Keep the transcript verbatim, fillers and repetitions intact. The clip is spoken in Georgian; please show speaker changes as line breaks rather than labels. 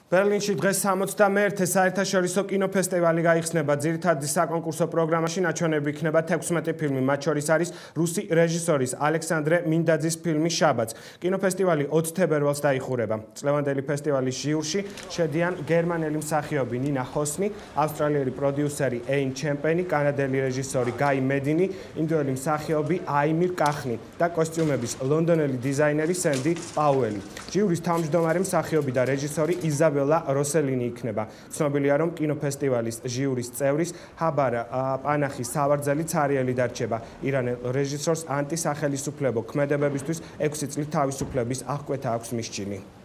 ბერლინში დღეს სამოცდამეერთე საერთაშორისო კინოფესტივალი გაიხსნება. ძირითადი საკონკურსო პროგრამაში ნაჩვენები იქნება თექვსმეტი ფილმი, მათ შორის არის რუსი რეჟისორის ალექსანდრე მინდაძის ფილმი შაბათს. კინოფესტივალი ოცი თებერვალს დაიხურება. წლევანდელი ფესტივალის ჟიურში შედიან გერმანელი მსახიობი ნინა ჰოსნი, ავსტრალიელი პროდიუსერი ეინ ჩემპენი, კანადელი რეჟისორი გაი მედინი, ინდოელი მსახიობი აიმირ კახნი და კოსტიუმების ლონდონელი დიზაინერი სენდი პაუელი. ჟიურის თავმჯდომარე მსახიობი და რეჟისორი იზაბელა როსელინი იქნება. ცნობილია, რომ კინოფესტივალის ჟიურის წევრის ჰაბარ პანახის სავარძელი ცარიელი დარჩება. ირანელ რეჟისორს ანტისახელისუფლებო ქმედებებისთვის ექვსი წლით თავისუფლების აღკვეთა აქვს მისჩინი.